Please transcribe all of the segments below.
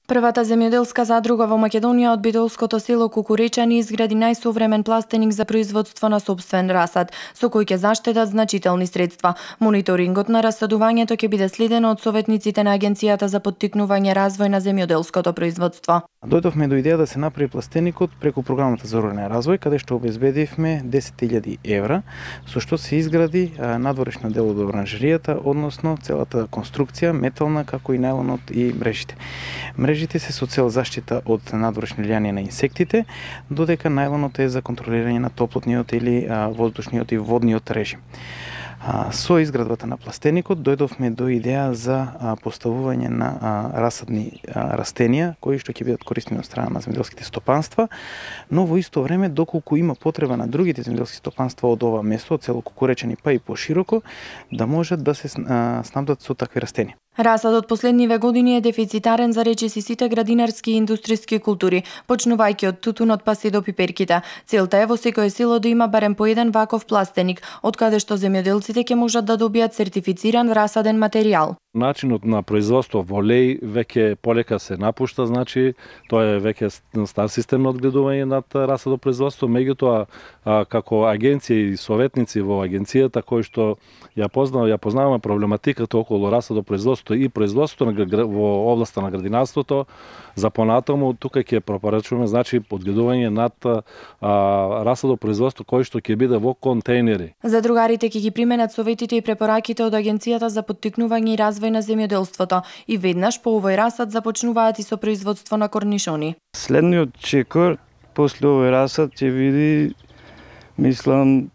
Првата земјоделска задруга во Македонија од битолското село Кукуречани изгради најсовремен пластеник за производство на сопствен расад, со кој ќе заштедат значителни средства. Мониторингот на расадувањето ќе биде следено од советниците на Агенцијата за поттикнување развој на земјоделското производство. Дојдовме до идеја да се направи пластеникот преку програмата за рурален развој, каде што обезбедивме 10.000 евра, со што се изгради надворешно дел од оранжеријата, односно целата конструкција, метална, како и најлонот и мрежите. Мрежите се со цел заштита од надворешни влијание на инсектите, додека најлонот е за контролирање на топлотниот или воздушниот и водниот режим. Со изградбата на пластеникот дојдовме до идеја за поставување на расадни растенија кои што ќе бидат користени од страна на земјоделските стопанства, но во исто време доколку има потреба на другите земјоделски стопанства од ова место, од село Кукуречани па и пошироко, да можат да се снабдат со такви растенија. Расадот последниве години е дефицитарен за речиси сите градинарски и индустријски култури, почнувајќи од тутунот па се до пиперките. Целта е во секое село да има барем по еден ваков пластеник, од каде што земјоделците ќе можат да добијат сертифициран расаден материјал. Начинот на производство во леј веќе полека се напушта, значи тоа е веќе стар систем на одгледување над расадопроизводство, меѓутоа како агенција и советници во агенцијата кои што ја познаваме проблематиката околу расадопроизводство и производство во областа на градинарството, за понатаму тука ќе препорачуваме значи одгледување над расадопроизводство кој што ќе биде во контејнери. Задругарите ќе ги применат советите и препораките од Агенцијата за поттикнување и развој на земјоделството и веднаш по овој расад започнуваат и со производство на корнишони. Следниот чекор после овој расад ќе види, мислам,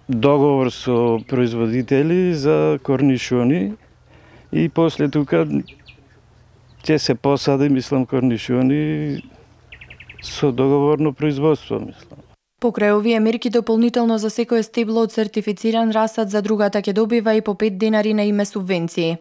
договор со производители за корнишони и после тука ќе се посади, мислам, корнишони со договорно производство, мислам. Покрај овие мерки дополнително за секое стебло од сертифициран расад, задругата ќе добива и по 5 денари на име субвенции.